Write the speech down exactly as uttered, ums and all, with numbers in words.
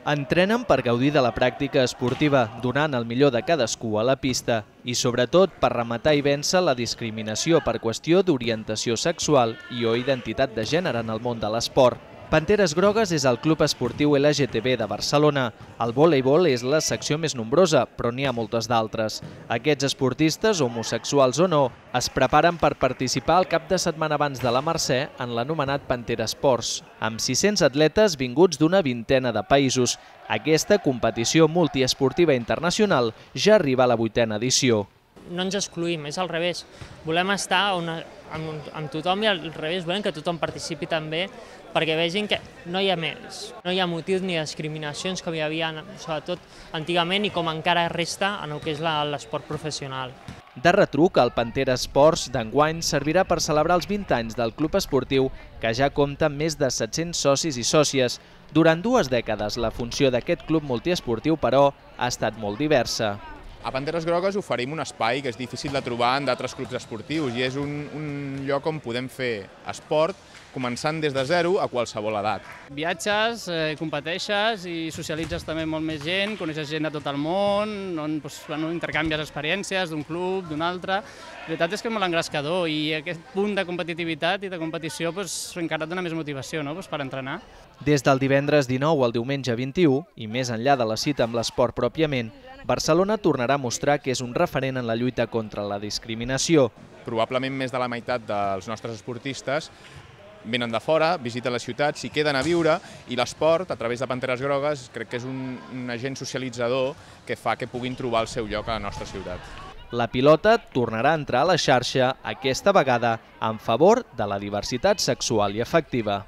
Entrenen per gaudir de la pràctica esportiva, donant el millor de cadascú a la pista i, sobretot, per rematar i vèncer la discriminació per qüestió d'orientació sexual i o identitat de gènere en el món de l'esport. Panteres Grogues és el club esportiu L G T B de Barcelona. El voleibol és la secció més nombrosa, però n'hi ha moltes d'altres. Aquests esportistes, homosexuals o no, es preparen per participar el cap de setmana abans de la Mercè en l'anomenat Pantera Sports, amb sis-cents atletes vinguts d'una vintena de països. Aquesta competició multiesportiva internacional ja arriba a la vuitena edició. No ens excluïm, és al revés. Volem estar on, amb, amb tothom i al revés, volem que tothom participi també perquè vegin que no hi ha més, no hi ha motius ni discriminacions com hi havia, sobretot antigament i com encara resta en el que és l'esport professional. De retruc, el Pantera Sports d'enguany servirà per celebrar els vint anys del club esportiu, que ja compta amb més de set-cents socis i sòcies. Durant dues dècades, la funció d'aquest club multiesportiu, però, ha estat molt diversa. A Panteres Grogues oferim un espai que és difícil de trobar en d'altres clubs esportius i és un, un lloc on podem fer esport començant des de zero a qualsevol edat. Viatges, eh, competeixes i socialitzes també molt més gent, coneixes gent de tot el món, on doncs, bueno, intercanvies experiències d'un club, d'un altre. La veritat és que és molt engrescador i aquest punt de competitivitat i de competició doncs, encara et dona més motivació, no? doncs, per entrenar. Des del divendres dinou al diumenge vint-i-u, i més enllà de la cita amb l'esport pròpiament, Barcelona tornarà a mostrar que és un referent en la lluita contra la discriminació. Probablement més de la meitat dels nostres esportistes venen de fora, visiten la ciutat, s'hi queden a viure i l'esport, a través de Panteres Grogues, crec que és un, un agent socialitzador que fa que puguin trobar el seu lloc a la nostra ciutat. La pilota tornarà a entrar a la xarxa, aquesta vegada en favor de la diversitat sexual i afectiva.